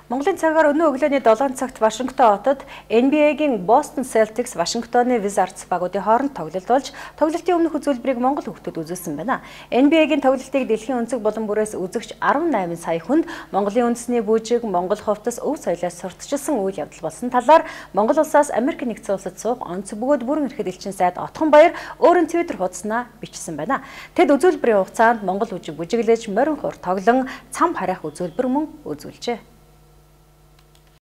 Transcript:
Монголын цагаар өнөө өглөөний 7 цагт Вашингтон хотод NBA-гийн Boston Celtics Вашингтоны Wizards багуудын хооронд тоглолт болж, тоглолтын өмнөх үзүүлбэрийг монгол хүүхдүүд үзүүлсэн байна. NBA-гийн тоглолтыг дэлхийн өнцөг булан бүрээс үзэгч 18 сая хүнд Монголын үндэсний бүжиг, Монгол хувцас, өв соёлоос сурталчилсан үйл явдал болсон талаар Монгол улсаас Америк нэгдсэн улсад суух онц бөгөөд бүрэн эрхэд элчин сайд Отхон Баяр өөрийн Twitter хуудаснаа бичсэн байна. Тэд үзүүлбэрийн хугацаанд Монгол бүжиглэж, морин хур тоглон, цам харайх үзүүлбэр мөн үзүүлжээ.